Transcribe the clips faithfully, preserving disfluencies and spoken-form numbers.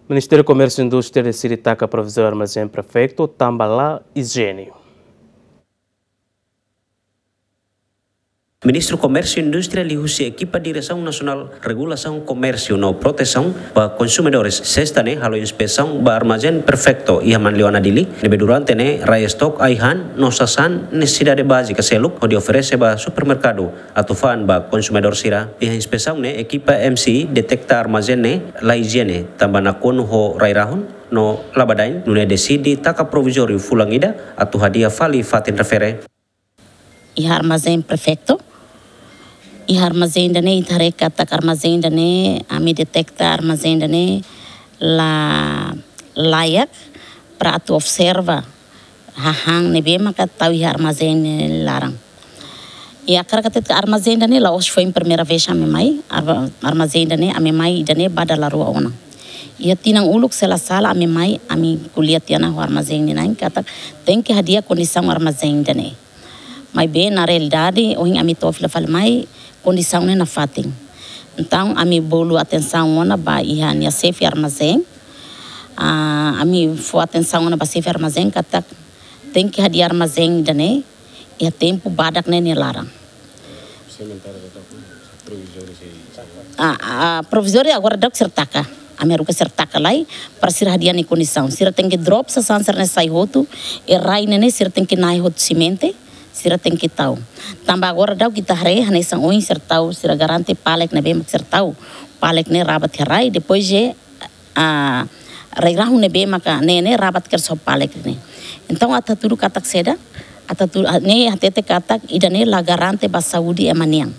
Ministériu Komérsiu Indústria deside taka provizóriu armazén prefeitu tanba la ijiene. Ministru Komérsiu Indústria liuhusi ekipa Diresaun Nasionál Regulasaun Komérsiu no Protesaun ba Konsumidores, sesta ne'e halo inspesaun ba armazén prefeitu iha Manleuana, Dili, ne'ebé durante ne'e rai estok ai-han no sasán nesesidade bázika seluk hodi oferese ba supermerkadu atu fa'an ba konsumidór sira. Iha inspesaun ne'e ekipa M C I deteta armazén ne'e la ijiene, tanba nakonu ho rai-rahun no labadain, nune'e deside taka provizóriu fulan ida atu hadi'a fali fatin refere. Iha armazén prefeitu. Iha armazén ida-ne'e, ita haree katak armazén ida-ne'e, ami deteta armazén ida-ne'e la layak para atu observa hahán ne'ebé maka tau iha armazén ne'e laran. I hakarak hatete katak armazén ida-ne'e la'ós foin primeira vez ami mai, arma-, armazén ida-ne'e ami mai ida-ne'e ba dala rua ona. Iha tinan uluk se la sala ami mai, ami ko'alia tiha ona ho armazén nia na'in katak tenke hadi'a kondisaun armazén ida-ne'e. Maibé na realidade, ohin ami to'o fila fali mai, kondisaun ne'e nafatin. Entaun, ami bolu atensaun ona ba iha nia xefe armazén. Ah, ami fó atensaun ona ba xefe armazén katak tenke hadi'a armazén ida-ne'e iha tempu badak ne'e nia laran. Ah, ah, provizóriu agora daudauk sira taka. Ami haruka sira taka lai, para sira hadi'a nia kondisaun. Sira tenke drop sasán sira-ne'e sai hotu, i rai ne'e ne'e sira tenke na'i hotu simente, sira tenke tau. Tanba agora daudauk ita haree, hanesan ohin sira tau, sira garante pallet ne'ebé mak sira tau. Pallet ne'e rabat iha rai, depois je, ah, rai-rahun ne'ebé maka ne'e ne'e rabat kedas ho pallet ne'e. Entaun atu hatudu katak saida, atu hatudu, ah, ne'e hatete katak ida-ne'e la garante ba saúde ema nian.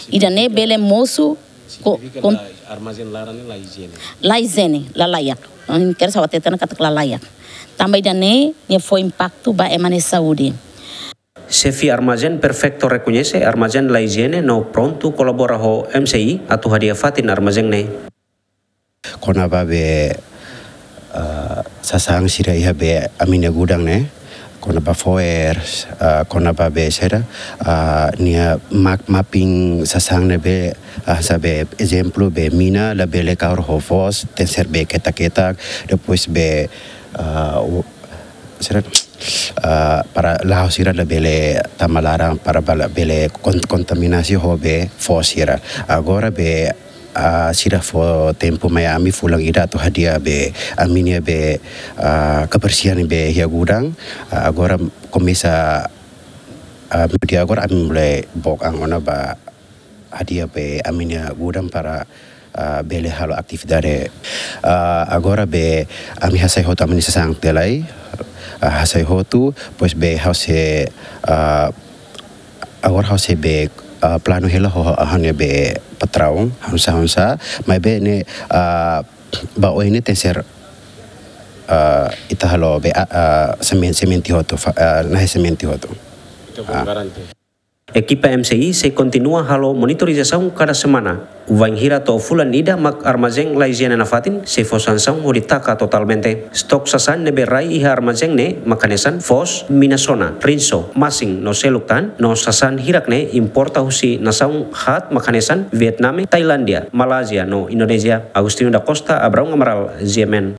Ida-ne'e bele mosu ko-, Signifika kon- la, armazén laran ne'e la ijiene. La ijiene, la layak. Ohin kedas ha'u hatete ona katak la layak. Tanba ida-ne'e, nia fó impaktu ba ema nia saúde. Xefe armazén prefeitu rekoñese armazén la ijiene no prontu kolabora ho M C I atu hadi'a fatin armazén ne'e. Kona-ba be, ah, sasán sira iha be ami-nia gudang ne'e, kona-ba fo'er, ah, kona-ba be sira, ah, nia map-, mapping sasán ne'ebé, ah, hanesan be ezemplu be mina labele kahur ho foos, tenke ser be ketak-ketak, depois be, ah, u-, sira, ah, para la'o sira labele tama laran para bala bele kon-, kontaminasi ho be foos sira. Agora be, ah, sira fó tempu mai ami fulan ida atu hadi'a be ami-nia be, ah, kebersihan be iha gudang. Ah, agora komesa, ah, meiudia agora ami mulai book an ona ba hadi'a be ami-nia gudang para, ah, bele halo atividade. Ah, agora be ami hasai hotu ami-nia sasán tiha lai, ah, hasai hotu, depois be ha'u sei, ah, agora ha'u sei be, ah, planu hela ho, ho ha'u-nia be patraun, oinsá, oinsá, maibé ne'e, ah, ba oin ne'e tenke ser, ah, ita halo be, ah, ah, semen-, semente hotu, fa-, ah, nahe semente hotu. Ita fó Ah. garante. Ekipa M C I sei kontinua halo monitorizasaun kada semana. Wainhira to'o fulan ida mak armazén la ijiene nafatin, sei fó sansaun hodi taka totalmente. Stok sasán ne'ebé rai iha armazén ne'e mak hanesan foos, mina sona, rinso, masin no seluk tan, no sasán hirak ne'e importa husi nasaun haat mak hanesan Vietname, Tailándia, Malázia no Indonézia. Agostinho da Costa, Abraão Amaral, G M N.